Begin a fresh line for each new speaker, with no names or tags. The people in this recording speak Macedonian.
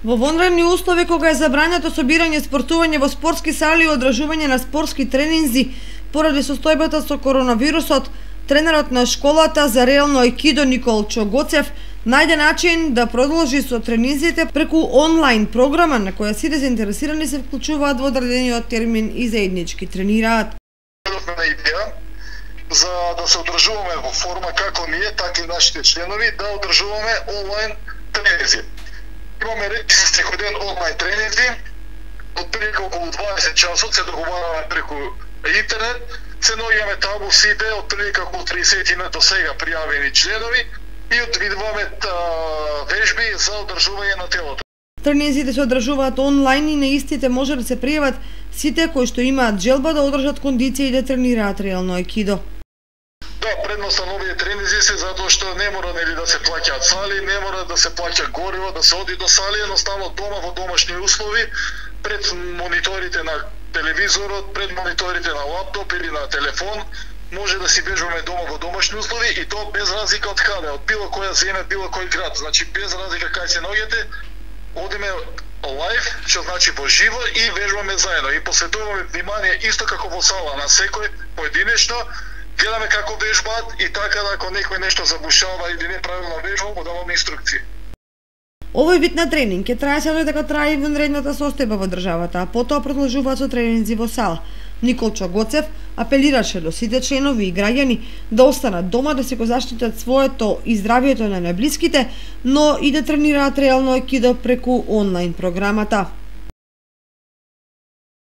Во вонредни услови, кога е забрането собирање, спортување во спортски сали и одржување на спортски тренинзи поради состојбата со коронавирусот, тренерот на школата за реално аикидо Николчо Гоцев најде начин да продолжи со тренинзите преку онлайн програма на која сите заинтересирани се вклучуваат во одредениот термин и заеднички тренираат.
Идеја за да се одржуваме во форма како ние, така и нашите членови, да одржуваме онлайн тренинзи. Имаме речиси секој ден онлайн тренинзи, отприлика околу 20 часот се договараме преку интернет, се наоѓаме табу сите, отприлика околу 30 до сега пријавени членови и одвидуваме вежби за одржување на телото.
Тренинзите се одржуваат онлайн и на истите може да се пријават сите кои што имаат желба да одржат кондиција и да тренираат реално аикидо.
Да, предноста на овие тренинзи се затоа што не мора да се плаќаат сали, не мора да се плаќа гориво, да се оди до сали, едноставно дома во домашни услови, пред мониторите на телевизорот, пред мониторите на лаптоп или на телефон, може да си бежуваме дома во домашни услови и тоа без разлика од каде, од било која земја, било кој град, значи без разлика кај се наоѓате, одиме лайв, што значи во живо и вежбаме заедно и посветуваме внимание исто како во сала на секој поединечно, гледаме како вежбаат и така да ако некој нешто забушава или неправилно вежба, му даваме инструкции.
Овој вид на тренинг ќе трае се додека трае и вонредната состојба во државата, а потоа продолжуваат со тренинзи во сала. Николчо Гоцев апелираше до сите членови и граѓани да останат дома, да се го заштитат своето и здравието на најблиските, но и да тренираат реално аикидо преку онлайн програмата.